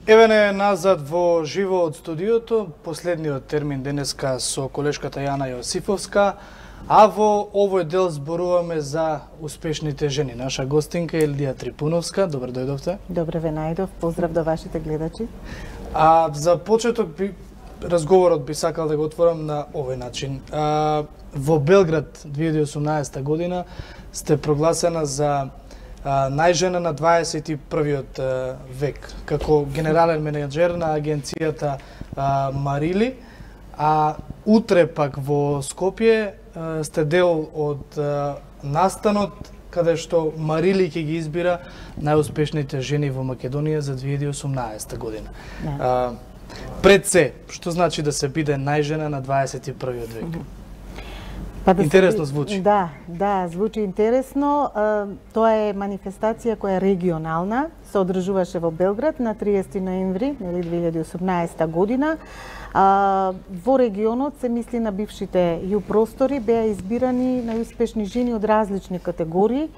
Еве не назад во живо од студиото, последниот термин денеска со колешката Јана Јосифовска, а во овој дел зборуваме за успешните жени. Наша гостинка Елдија Трипуновска, добро дојдовте. Добре ве најдов, поздрав до вашите гледачи. За почеток разговорот би сакал да го отворам на овој начин. Во Белград 2018 година сте прогласена за најжена на 21-виот век, како генерален менеджер на агенцијата Марили, а утре пак во Скопје сте дел од настанот каде што Марили ќе ги избира најуспешните жени во Македонија за 2018 година. Пред се, што значи да се биде најжена на 21-виот век? Интересно звучи. Да, звучи интересно. Тоа е манифестација која е регионална, се одржуваше во Белград на 30 ноември 2018 година. Во регионот се мисли на бившите ју простори, беа избирани најуспешни жени од различни категории.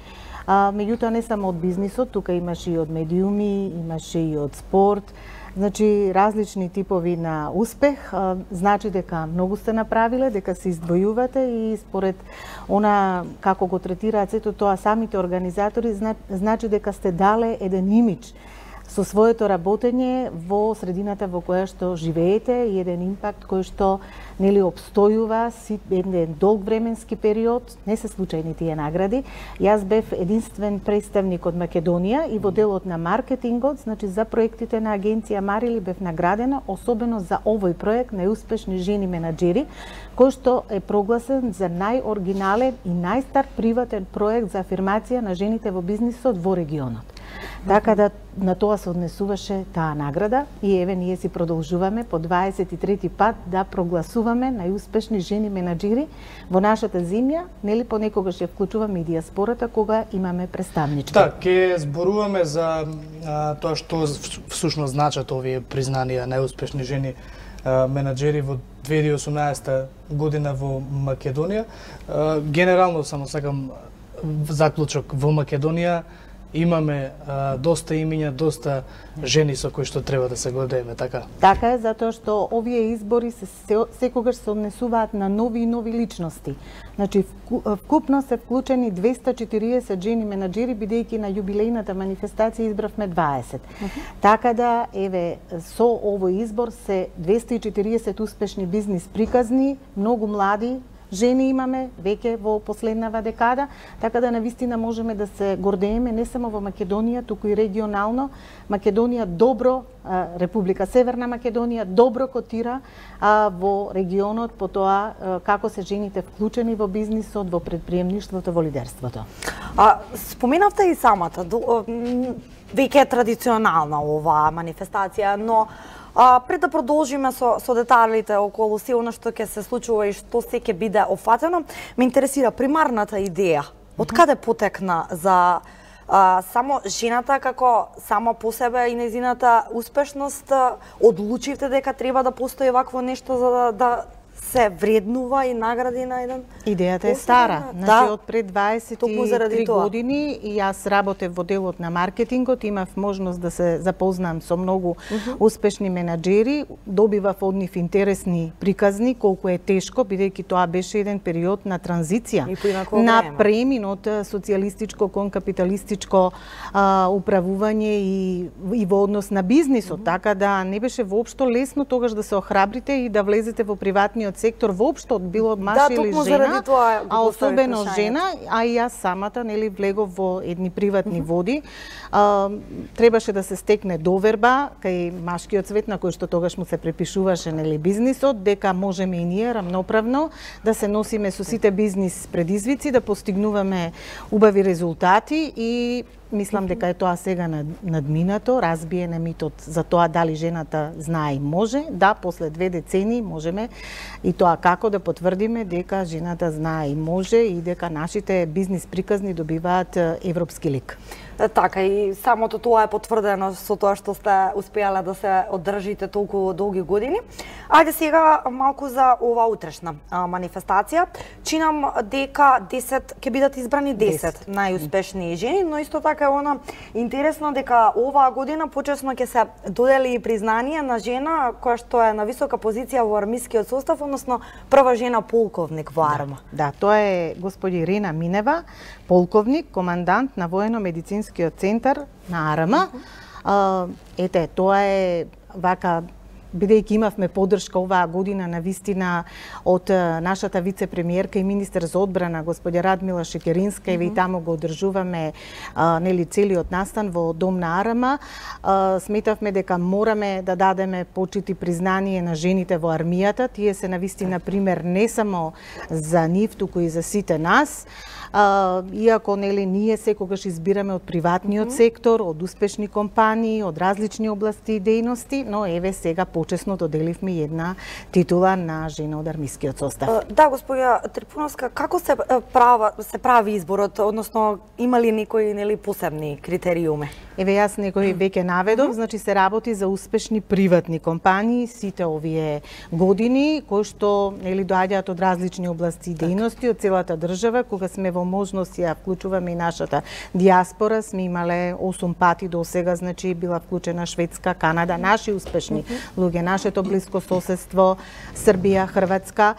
Меѓутоа не само од бизнисот, тука имаше и од медиуми, имаше и од спорт. Значи, различни типови на успех, значи дека многу сте направиле, дека се издвојувате и според она како го третираат сето тоа самите организатори, значи дека сте дале еден имидж со своето работење во средината во која што живеете и еден импакт кој што нели обстојува еден долг временски период. Не се случајни тие награди. Јас бев единствен представник од Македонија и во делот на маркетингот, значи за проектите на агенција Марили бев наградена, особено за овој проект најуспешни жени менаџери, кој што е прогласен за најоригинален и најстар приватен проект за афирмација на жените во бизнисот во регионот. Така да на тоа се однесуваше таа награда и еве ние си продолжуваме по 23-ти пат да прогласуваме најуспешни жени менаџери во нашата земја, нели понекогаш ја вклучуваме и диаспората кога имаме представнички. Так, ќе зборуваме за тоа што всушност значат овие признанија најуспешни жени менаџери во 2018 година во Македонија. Генерално само сакам заклучок, во Македонија имаме доста имиња, доста жени со кои што треба да се гордееме, така? Така е, затоа што овие избори секогаш се однесуваат на нови и нови личности. Значи, вкупно се вклучени 240 жени менаџери, бидејќи на јубилејната манифестација избравме 20. Така да, еве, со овој избор се 240 успешни бизнис приказни, многу млади жени имаме веќе во последнава декада, така да навистина можеме да се гордееме не само во Македонија, туку и регионално. Македонија добро, Република Северна Македонија добро котира во регионот по тоа како се жените вклучени во бизнисот, во предприемништвото, во лидерството. Споменавте и самата, веќе е традиционална оваа манифестација, но пред да продолжиме со деталите околу се она што ќе се случува и што се ќе биде офатено, ме интересира примарната идеја. Од каде потекна за само жената како сама по себе и незината успешност? Одлучивте дека треба да постои вакво нешто за да се вреднува и награди на еден? Идејата е стара. Значи, од пред 23 години и јас работев во делот на маркетингот, имав можност да се запознам со многу успешни менаџери, добивав од нив интересни приказни, колку е тешко, бидејќи тоа беше еден период на транзиција, на премин од социјалистичко кон капиталистичко управување и во однос на бизнисот, така да не беше воопшто лесно тогаш да се охрабрите и да влезете во приватниот сектор воопшто, било маж или жена, а особено жена, а и јас самата нели влегов во едни приватни води. Требаше да се стекне доверба кај машкиот свет на кој што тогаш му се препишуваше нели бизнисот, дека можеме и ние рамноправно да се носиме со сите бизнис предизвици, да постигнуваме убави резултати и мислам дека е тоа сега надминато, разбиене митот за тоа дали жената знае и може. Да, после 2 децении можеме и тоа како да потврдиме дека жената знае и може и дека нашите бизнис приказни добиваат европски лик. Така и самото тоа е потврдено со тоа што сте успеале да се одржите толку долги години. Ајде сега малку за ова утрешна манифестација. Чинам дека 10 ќе бидат избрани 10 најуспешни жени, но исто така е она интересно дека оваа година почесно ќе се додели признание на жена која што е на висока позиција во армискиот состав, односно прва жена полковник во арма. Да, тоа е господи Ирина Минева, полковник, командант на воено-медицинскиот центар на арма. Ете, тоа е вака, бидејќи имавме поддршка оваа година на вистина од нашата вице-премиерка и министер за одбрана господја Радмила Шекеринска, и таму го одржуваме нели целиот настан во Дом на Арама. Сметавме дека мораме да дадеме почит и признание на жените во армијата. Тие се на вистина пример не само за нив, туку и за сите нас. Иако нели ние секогаш избираме од приватниот сектор, од успешни компании, од различни области и дејности, но еве сега почесно доделивме една титула на жена од армискиот состав. Да, господја Трипуновска, како се прави изборот, односно има ли некои нели посебни критериуми? Еве јас некои веќе наведов, значи се работи за успешни приватни компании сите овие години кои што нели доаѓаат од различни области и дејности од целата држава. Кога сме во можност ја вклучуваме и нашата диаспора, сме имале 8 пати до сега, значи била вклучена Шведска, Канада, наши успешни луѓе, нашето блиско соседство, Србија, Хрватска.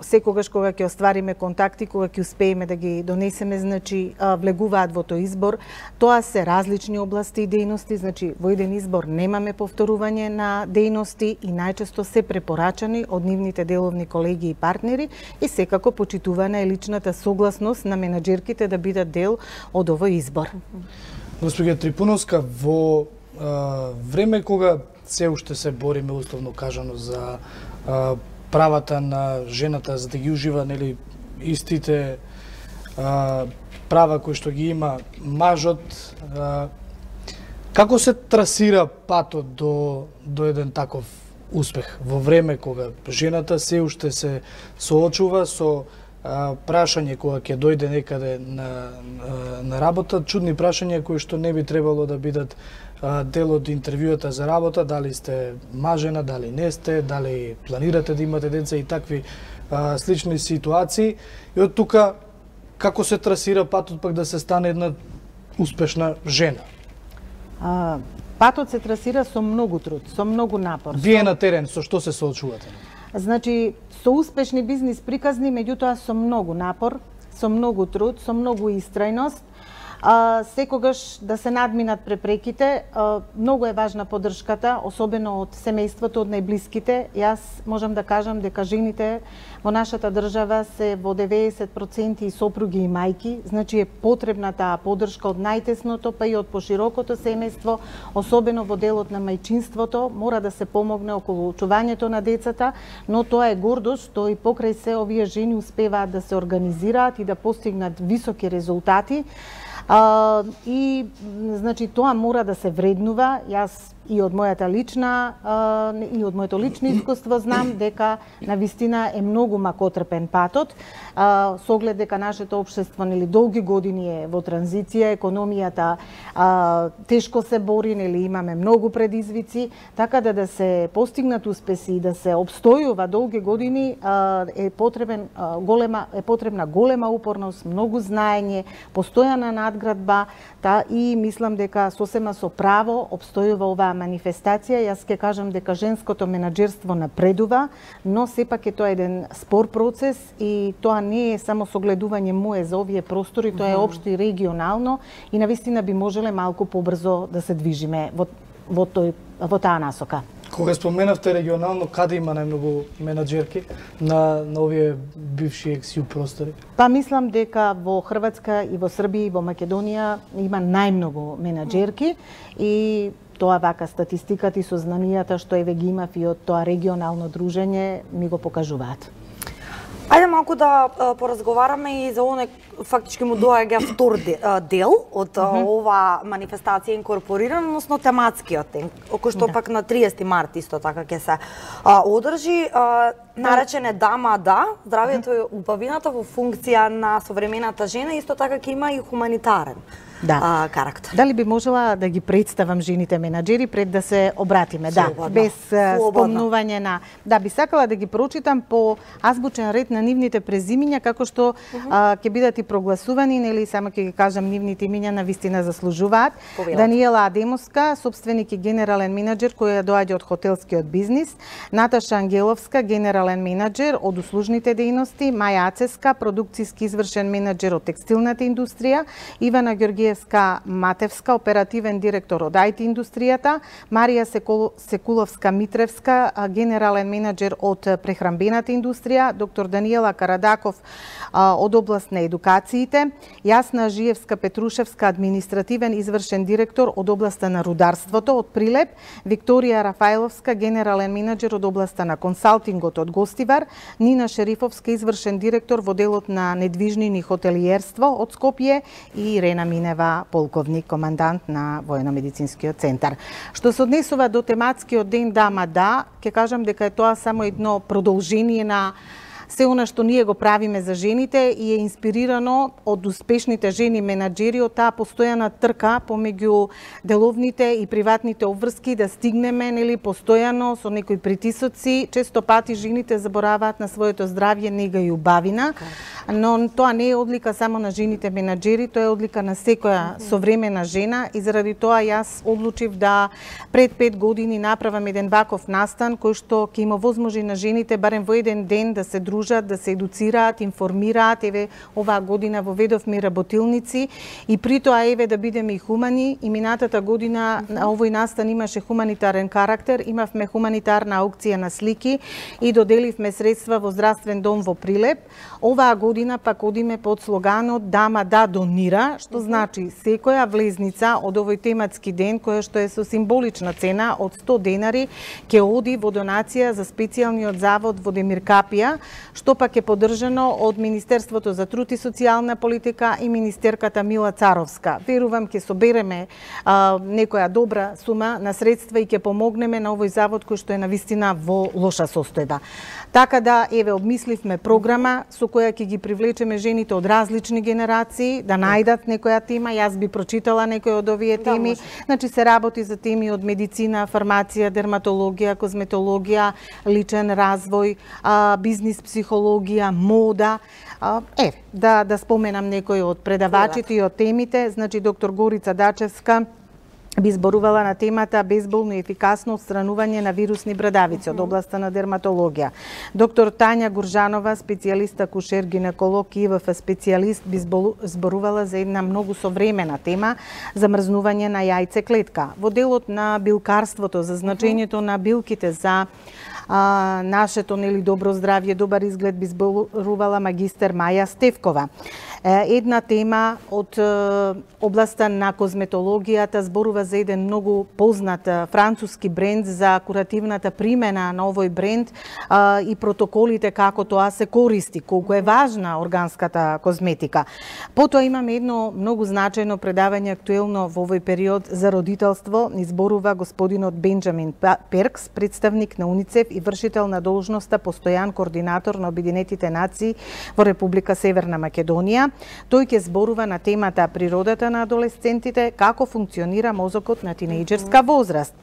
Секогаш кога ќе оствариме контакти, кога ќе успееме да ги донесеме, значи влегуваат во тој избор. Тоа се различни области и дејности, значи во еден избор немаме повторување на дејности и најчесто се препорачани од нивните деловни колеги и партнери, и секако почитувана е личната согласност на менаџерките да бидат дел од овој избор. Господја Трипуновска, во време кога се уште се бориме условно кажано за правата на жената за да ги ужива нели истите права кои што ги има мажот, како се трасира патот до еден таков успех во време кога жената се уште се соочува со прашање кога ќе дојде некаде на работа, чудни прашања кои што не би требало да бидат дел од интервјуата за работа, дали сте мажена, дали не сте, дали планирате да имате деца и такви слични ситуации. И од тука како се трасира патот пак да се стане една успешна жена? Патот се трасира со многу труд, со многу напор. Вие на терен со што се соочувате? Значи, со успешни бизнис приказни, меѓутоа со многу напор, со многу труд, со многу истрајност, секогаш да се надминат препреките. Многу е важна поддршката, особено од семејството, од најблиските. Јас можам да кажам дека жените во нашата држава се во 90% сопруги и мајки, значи е потребна таа поддршка од најтесното па и од поширокото семејство, особено во делот на мајчинството. Мора да се помогне околу чувањето на децата, но тоа е гордост што и покрај се овие жени успеваат да се организираат и да постигнат високи резултати. И значи тоа мора да се вреднува. Јас и од моето лично искуство знам дека навистина е многу макотрпен патот, со оглед дека нашето општество нели долги години е во транзиција, економијата тешко се бори, нели имаме многу предизвици, така да се постигнат успеси и да се обстојува долги години е потребна голема упорност, многу знаење, постојана надградба, и мислам дека сосема со право обстојува оваа манифестација. Јас ќе кажам дека женското менаџерство напредува, но сепак е тоа еден спор процес и тоа не е само согледување мое за овие простори, тоа е општо и регионално и навистина би можеле малку побрзо да се движиме во таа насока. Кога споменавте регионално, каде има најмногу менаџерки на овие бивши екс-ју простори? Па мислам дека во Хрватска и во Србија и во Македонија има најмногу менаџерки и тоа вака статистиката и сознанијата што еве ги имав и од тоа регионално дружење ми го покажуваат. Ајде малку да поразговараме и за оној фактички му доаѓа втор дел од ова манифестација инкорпорирана, односно тематскиот ден, кој што пак на 30 март исто така ќе се одржи, наречен е Дама да, здравието и убавината во функција на современата жена, исто така ќе има и хуманитарен карактер. Дали би можела да ги представам жените менаџери пред да се обратиме? Слободно. Без спомнување на... Да, би сакала да ги прочитам по азбучен ред на нивните презимиња, како што ќе бидат и прогласувани, нели, само ќе ги кажам нивните имиња, на вистина заслужуваат. Даниела Адемовска, собственик и генерален менаџер која доаѓа од хотелскиот бизнис, Наташа Ангеловска, генерален менаџер од услужните дејности, Маја Ацеска, продукцијски извршен менаџер од текстилната индустрија, Ивана Ѓоргиевска Матевска, оперативен директор од IT индустријата, Марија Секуловска Митревска, генерален менаџер од прехранбената индустрија, доктор Даниела Карадаков од област на едукациите, Јасна Жиевска Петрушевска, административен извршен директор од областа на рударството од Прилеп, Викторија Рафаиловска, генерален менаџер од областа на консалтингот од Гостивар, Нина Шерифовска, извршен директор во делот на недвижнини хотелиерство од Скопје и Ирена Минева, полковник, командант на војно-медицинскиот центар. Што се однесува до тематскиот ден Дама да, ќе кажам дека е тоа само едно продолжение на се она што ние го правиме за жените и е инспирирано од успешните жени менаџери, од таа постојана трка помеѓу деловните и приватните обврски да стигнеме, нели, постојано со некои притисоци. Често пати жените забораваат на своето здравје, нега и убавина, но тоа не е одлика само на жените менаџери, тоа е одлика на секоја современа жена и заради тоа јас одлучив да пред 5 години направам еден ваков настан кој што ќе им овозможи на жените барем во еден ден да се дружат, да се едуцираат, информираат. Еве, оваа година воведовме работилници и при тоа еве да бидеме и хумани. И минатата година на овој настан имаше хуманитарен карактер, имавме хуманитарна аукција на слики и доделивме средства во здравствен дом во Прилеп. Оваа година пак одиме под слоганот Дама да донира, што значи секоја влезница од овој тематски ден, која што е со символична цена од 100 денари, ќе оди во донација за специјалниот завод во Демир Капија, што пак е поддржано од Министерството за труд и социјална политика и министерката Мила Царовска. Верувам ќе собереме некоја добра сума на средства и ќе помогнеме на овој завод кој што е навистина во лоша состојба. Така да, еве, обмисливме програма со која ќе ги привлечеме жените од различни генерации, да најдат некоја тема. Јас би прочитала некој од овие теми. Значи се работи за теми од медицина, фармација, дерматологија, козметологија, личен развој, бизнис психологија, мода. Да споменам некои од предавачите и од темите. Значи, доктор Горица Дачевска би зборувала на темата безболно и ефикасно отстранување на вирусни брадавици од областа на дерматологија. Доктор Тања Гуржанова, специјалист акушер гинеколог и ИВФ специјалист, би зборувала за една многу современа тема, замрзнување на јајцеклетка. Во делот на билкарството, за значењето на билките за нашето, нели, добро здравје, добар изглед, би зборувала магистер Маја Стевкова. Една тема од областа на козметологијата зборува за еден многу познат француски бренд, за куративната примена на овој бренд и протоколите како тоа се користи, колку е важна органската козметика. Потоа имаме едно многу значајно предавање актуелно во овој период за родителство, изборува господинот Бенџамин Перкс, представник на УНИЦЕФ и вршител на должноста постојан координатор на Обединетите нации во Република Северна Македонија. Тој ќе зборува на темата природата на адолесцентите, како функционира мозокот на тинејџерска возраст.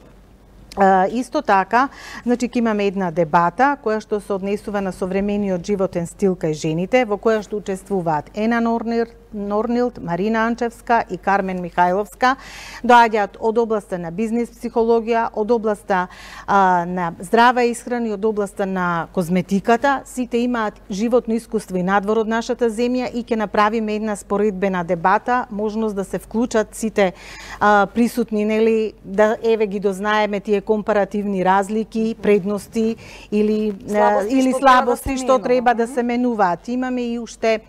Исто така, значи ќе имаме една дебата која што се однесува на современиот животен стил кај жените, во која што учествуваат Ена Норнилд, Марина Анчевска и Кармен Михајловска. Доаѓаат од областа на бизнис психологија, од областа на здрава исхрана и од областа на козметиката. Сите имаат животно искуство и надвор од нашата земја и ќе направиме една споредбена дебата, можност да се вклучат сите присутни, нели, да еве ги дознаеме тие компаративни разлики, предности или слабости што треба да се менуваат. Имаме и уште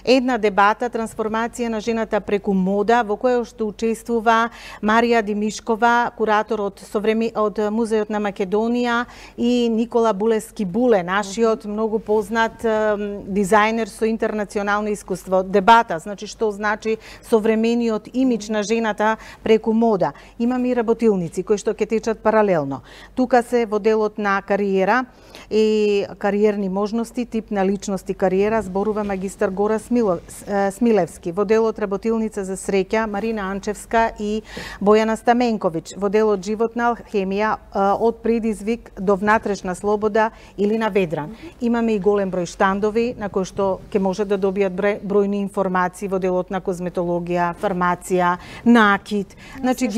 една дебата, трансформација на жената преку мода, во која што учествува Марија Димишкова, куратор од Музеот на Македонија, и Никола Булески Буле, нашиот многу познат дизајнер со интернационално искуство. Дебата, значи што значи современиот имидж на жената преку мода. Имаме и работилници кои што ќе течат паралелно. Тука се во делот на кариера и кариерни можности, тип на личност и кариера, зборува магистар Гора Смилевски, во делот Работилница за среќа Марина Анчевска и Бојана Стаменковиќ, во делот Животна алхемија од предизвик до внатрешна слобода или на Ведран. Имаме и голем број штандови на кои што ќе може да добијат бројни информации во делот на козметологија, фармација, накид. Значи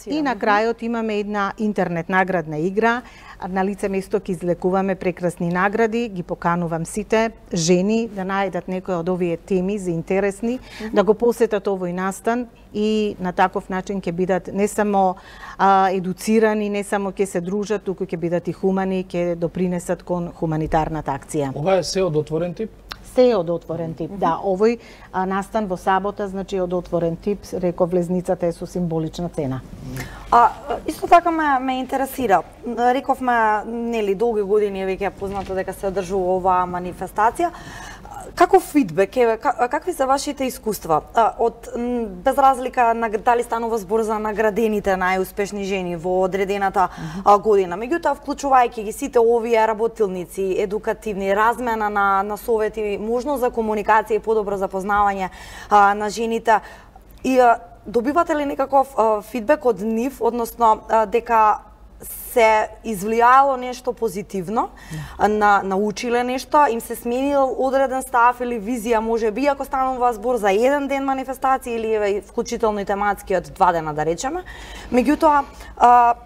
и на крајот имаме една интернет наградна игра. На лице место ќе излекуваме прекрасни награди, ги поканувам сите жени да најдат некои од овие теми за интересни, да го посетат овој настан и на таков начин ќе бидат не само едуцирани, не само ќе се дружат, туку ќе бидат и хумани, ќе допринесат кон хуманитарната акција. Ова е се од отворен тип? Се од отворен тип, да. Овој настан во сабота, значи од отворен тип, реков влезницата е со символична цена. Исто така ме интересира. Рековме, нели, долги години е веќе познато дека се одржува оваа манифестација. Каков фидбек е, какви се вашите искуства? Без разлика на дали станува збор за наградените најуспешни жени во одредената година. Меѓутоа, вклучувајќи ги сите овие работилници, едукативни, размена на совети, можност за комуникација и подобро запознавање на жените, и добивате ли некаков фидбек од нив, односно дека се извлијало нешто позитивно, научиле нешто, им се сменил одреден став или визија, може би, ако станува збор за еден ден манифестација или вклучително и тематски од 2 дена, да речеме. Меѓутоа,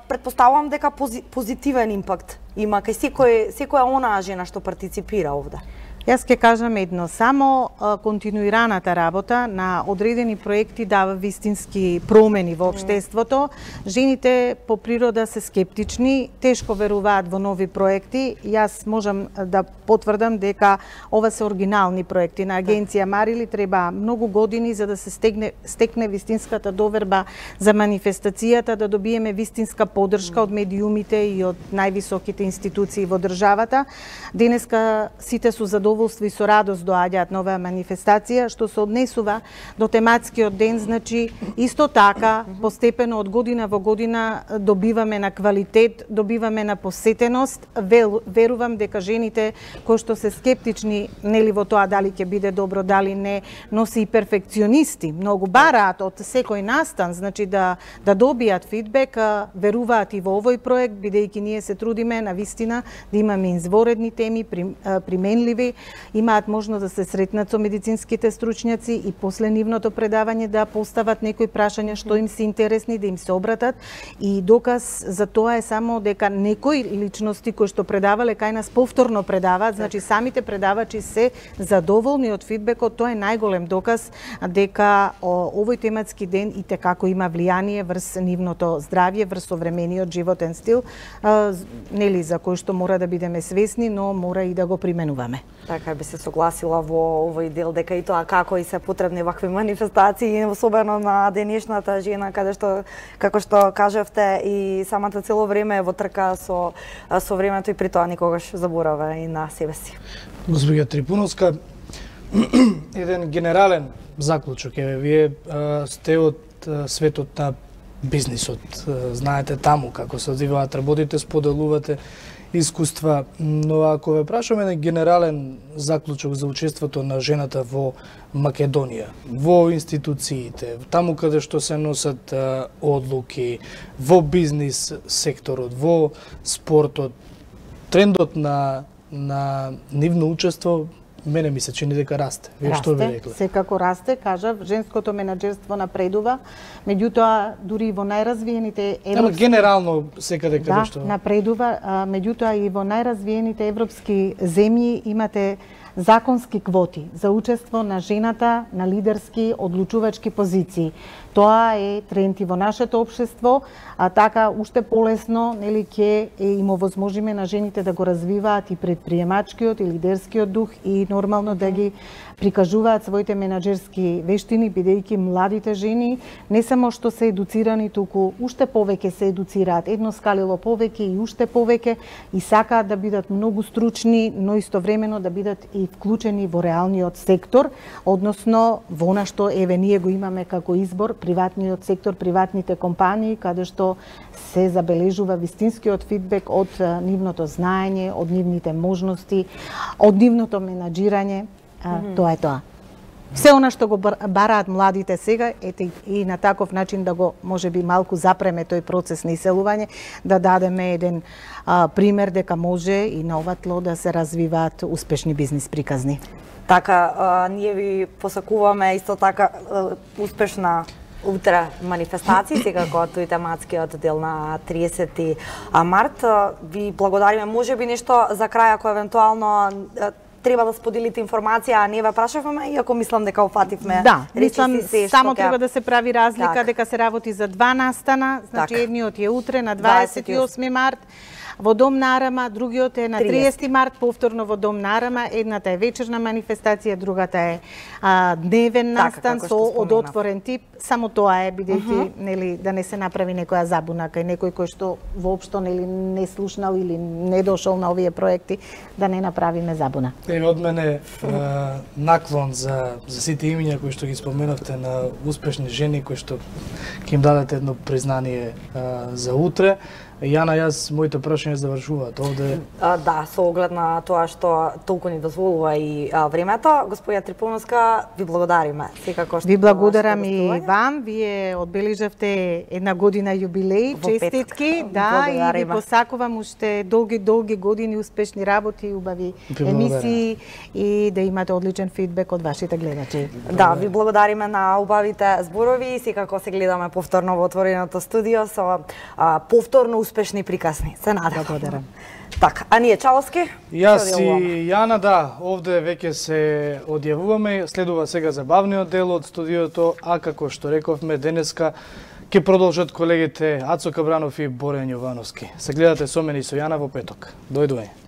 претпоставувам дека позитивен импакт има кај секоја онаа жена што партиципира овде. Јас ќе кажам едно, само континуираната работа на одредени проекти дава вистински промени во општеството. Жените по природа се скептични, тешко веруваат во нови проекти. Јас можам да потврдам дека ова се оригинални проекти. На агенција Марили треба многу години за да се стекне вистинската доверба за манифестацијата, да добиеме вистинска поддршка од медиумите и од највисоките институции во државата. Денеска сите су задоволни и со радост доаѓаат на оваа манифестација, што се однесува до тематскиот ден, значи исто така постепено од година во година добиваме на квалитет, добиваме на посетеност. Верувам дека жените кои што се скептични нели во тоа дали ќе биде добро, дали не, но се и перфекционисти, многу бараат од секој настан, значи да добијат фидбек, веруваат и во овој проект, бидејќи ние се трудиме на вистина да имаме изворедни теми, применливи, имаат можност да се сретнат со медицинските стручњаци и после нивното предавање да постават некои прашања што им се интересни, да им се обратат, и доказ за тоа е само дека некои личности кои што предавале кај нас повторно предаваат, значи самите предавачи се задоволни од фидбекот. Тоа е најголем доказ дека овој тематски ден и како има влијание врз нивното здравје, врз современиот животен стил, нели, за кој што мора да бидеме свесни, но мора и да го применуваме. Така би се согласила во овој дел дека и тоа како и се потребни вакви манифестации, особено на денешната жена, каде што, како што кажавте, и самата цело време е во трка со времето и при тоа никогаш заборава и на себе си. Госпоѓа Трипуновска, еден генерален заклучок е, вие сте од светот на бизнисот, знаете таму како се одвиваат работите, споделувате искуства, но ако ве прашаме на генерален заклучок за учеството на жената во Македонија, во институциите, таму каде што се носат одлуки, во бизнис секторот, во спортот, трендот на нивно учество, мене ми се чини дека расте. Вие што ви рекле? Секако расте, кажав, женското менаџерство напредува, меѓутоа дури и во најразвиените европски... генерално секаде каде што... Да, напредува, меѓутоа и во најразвиените европски земји имате законски квоти за учество на жената на лидерски одлучувачки позиции. Тоа е тренд и во нашето општество, а така уште полесно нели ќе им овозможиме на жените да го развиваат и предприемачкиот и лидерскиот дух и нормално да ги прикажуваат своите менаџерски вештини, бидејќи младите жени не само што се едуцирани, туку уште повеќе се едуцираат, едно скалило повеќе и уште повеќе, и сакаат да бидат многу стручни, но истовремено да бидат и вклучени во реалниот сектор, односно во она што еве ние го имаме како избор, приватниот сектор, приватните компании, каде што се забележува вистинскиот фидбек од нивното знаење, од нивните можности, од нивното менаџирање. Тоа е тоа. Се она што го бараат младите сега, ете и на таков начин да го можеби малку запреме тој процес на иселување, да дадеме еден пример дека може и на ова тло да се развиваат успешни бизнис приказни. Така, ние ви посакуваме исто така успешна утре манифестација, секако тој тематскиот дел на 30 март. Ви благодариме, можеби нешто за крај, ако евентуално треба да споделите информација, а не ве прашавме, иако мислам дека опативме. Да, мислам само треба да се прави разлика дека се работи за два настана, значи едниот е утре на 28 март во Дом на Арама, другиот е на 30 март, повторно во Дом на Арама. Едната е вечерна манифестација, другата е дневен настан со одотворен тип. Само тоа е, бидејќи нели да не се направи некоја забуна кај некој кој што воопшто нели не слушнал или не дошол на овие проекти, да не направиме забуна. Од мене наклон за сите имиња кои што ги споменавте на успешни жени кои што ќе им дадете едно признание за утре. Јана, јас моите прашања завршуваат овде. Да, со оглед на тоа што толку ни дозволува и времето, господја Трипуновска, ви благодариме. Секако што ви благодарам и вам. Вие одбележавте една година јубилеј, честитки, да, и ви посакувам уште долги години успешни работи, убави емисии и да имате одличен фидбек од вашите гледачи. Да, ви благодариме на убавите зборови, секако се гледаме повторно во отвореното студио со повторно успешни приказни. Се надевам. Благодарам. Така, а ние Чаловски? Јас и Јана, да, овде веќе се одјавуваме, следува сега забавниот дел од студиото, а како што рековме денеска ќе продолжат колегите Ацо Кабранов и Борен Јовановски. Се гледате со мене и со Јана во петок. Дојдување.